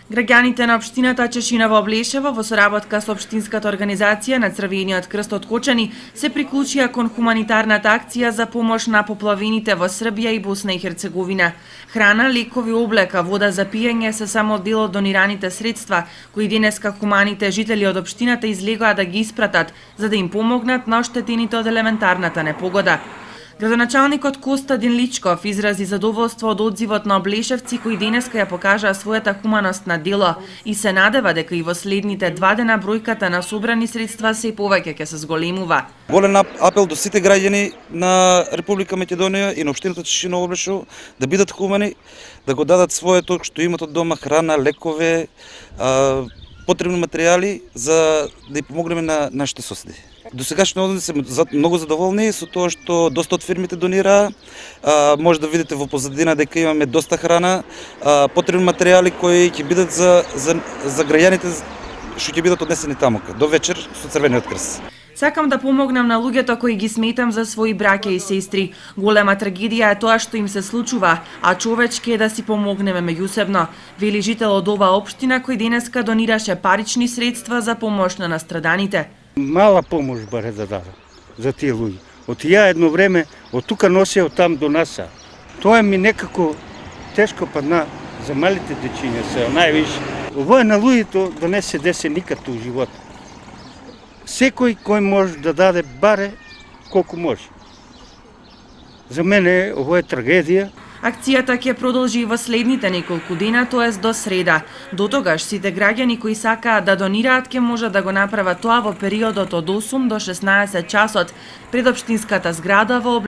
Граѓаните на општината Чешиново Облешево во соработка со општинската организација на Црвениот крст од Кочани се приклучија кон хуманитарната акција за помош на поплавените во Србија и Босна и Херцеговина. Храна, лекови, облека, вода за пиење се само дел од донираните средства кои денеска хуманите жители од општината излегоа да ги испратат за да им помогнат на оштетените од елементарната непогода. Градоначалникот Костадин Личков изрази задоволство од одзивот на облешевци кои денеска ја покажаа својата хуманост на дело и се надева дека и во следните 2 дена бројката на собрани средства се повеќе ќе се зголемува. Голем апел до сите граѓани на Република Македонија и на општината Чешиново Облешево да бидат хумани, да го дадат своето што имат од дома, храна, лекове, потребни материјали за да ја помогнеме на нашите соседи. До сегашни односи се многу задоволни со тоа што доста од фирмите донираа. Може да видите во позадина дека имаме доста храна, потребни материјали кои ќе бидат за граѓаните што ќе бидат однесени таму до вечер со Црвениот крст. Сакам да помогнам на луѓето кои ги сметам за своји браќа и сестри. Голема трагедија е тоа што им се случува, а човечки е да си помогнеме меѓусебно, вели жител од оваа општина кој денеска донираше парични средства за помош на настраданите. Мала помош баре да дадам за тие луѓе. Од ја едно време од тука носеа од там до наса. Тоа ми некако тешко падна за малите дечиња се највише. Ово е на луѓето да не се десе никад у живот. Секој кој може да даде баре колку може. За мене ово е трагедија. Акцијата ќе продолжи во следните неколку дена, тоест до среда. До тогаш сите граѓани кои сакаат да донираат ќе можат да го направат тоа во периодот од 8 до 16 часот пред општинската зграда во